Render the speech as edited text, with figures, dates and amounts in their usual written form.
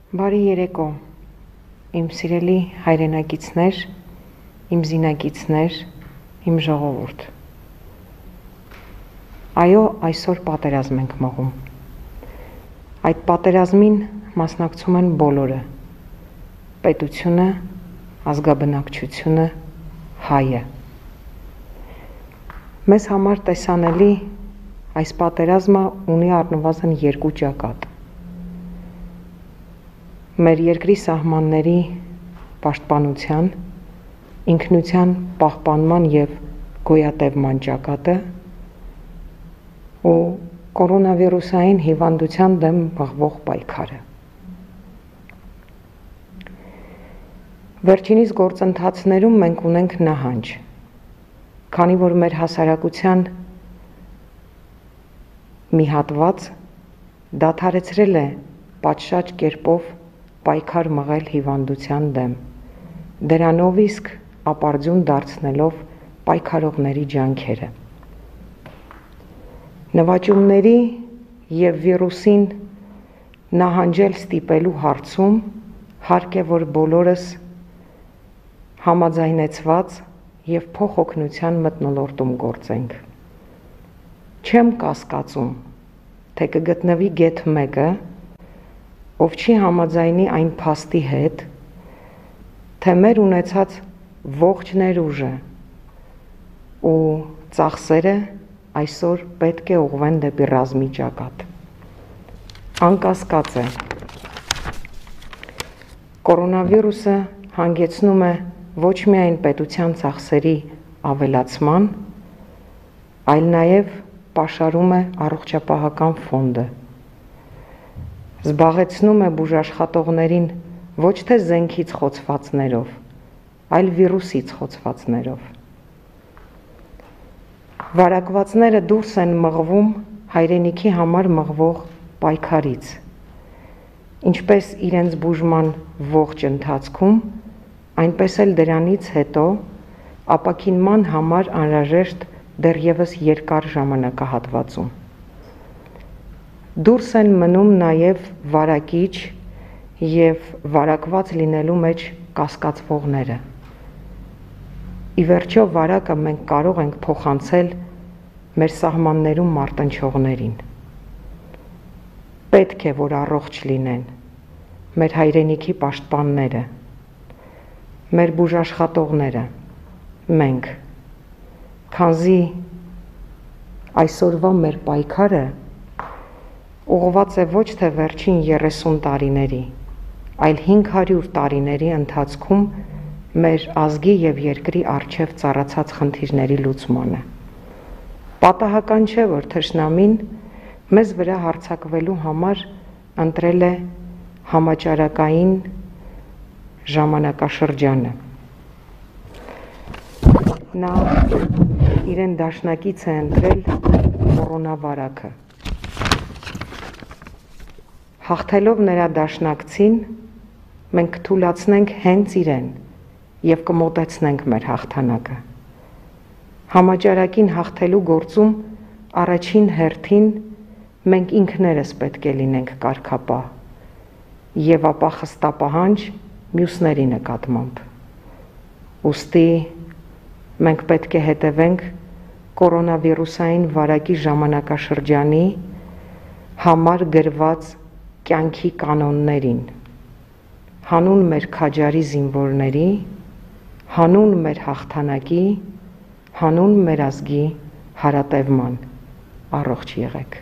Բարի երեկո, իմ սիրելի հայրենակիցներ, իմ զինակիցներ, իմ ժողովուրդ։ Այո, այսօր պատերազմ ենք մղում։ Այդ պատերազմին մասնակցում են բոլորը, պետությունը, ազգաբնակչությունը, հայը։ Մեզ համար տեսանելի այս պատերազմը ունի առնվազն երկու ճակատ։ Մեր երկրի սահմանների պաշտպանության, ինքնության պահպանման և գոյատևման ճակատը ու կորոնավիրուսային հիվանդության դեմ մղվող պայքարը։ Վերջինիս գործընթացներում մենք ունենք նահանջ, քանի որ մեր հասարակության մի հատված դադարեցրել է պատշաճ կերպով պայքար մղել հիվանդության դեմ, դրանով իսկ ապարդյուն դարձնելով պայքարողների ջանքերը։ Նվաճումների և վիրուսին նահանջել ստիպելու հարցում հարկ է, որ բոլորս համաձայնեցված և փոխօգնության մթնոլորտում գործենք։ Չեմ կասկածում, թե կգտնվի գեթ մեկը, ով չի համաձայնի այն փաստի հետ, թե մեր ունեցած ողջ ներուժը ու ծախսերը այսօր պետք է ուղղվեն դեպի ռազմի ճակատ։ Անկասկած է, կորոնավիրուսը հանգեցնում է ոչ միայն պետության ծախսերի ավելացման, այլ նաև պաշարում է առողջապահական ֆոնդը, զբաղեցնում է բուժաշխատողներին ոչ թե զենքից խոցվածներով, այլ վիրուսից խոցվածներով։ Վարակվածները դուրս են մղվում հայրենիքի համար մղվող պայքարից, ինչպես իրենց բուժման ողջ ընթացքում, այնպես էլ դրանից հետո ապաքինման համար անհրաժեշտ դեռևս երկար ժամանակահատվածում։ Դուրս են մնում նաև վարակիչ և վարակված լինելու մեջ կասկածվողները։ Ի վերջո վարակը մենք կարող ենք փոխանցել մեր սահմաններում մարտնչողներին։ Պետք է, որ առողջ լինեն մեր հայրենիքի պաշտպանները, մեր բուժաշխատողները, մենք, քանզի այսօրվա մեր պայքարը ուղղված է ոչ թե վերջին 30 տարիների, այլ 500 տարիների ընթացքում մեր ազգի և երկրի առջև ծառացած խնդիրների լուծմանը։ Պատահական չէ, որ թշնամին մեզ վրա հարձակվելու համար ընտրել է համաճարակային ժամանակաշրջանը։ Նա իրեն դաշնակից է ընտրել կորոնավարակը։ Հաղթելով նրա դաշնակցին, մենք կթուլացնենք հենց իրեն և կմոտեցնենք մեր հաղթանակը։ Համաճարակին հաղթելու գործում առաջին հերթին մենք ինքներս պետք է լինենք կարգապահ և ապա խստապահանջ մյուսների նկատմամբ։ Ուստի մենք պետք է հետևենք կորոնավիրուսային վարակի ժամանակաշրջանի համար գրված կյանքի կանոններին, հանուն մեր քաջարի զինվորների, հանուն մեր հաղթանակի, հանուն մեր ազգի հարատևման։ Առողջ եղեք։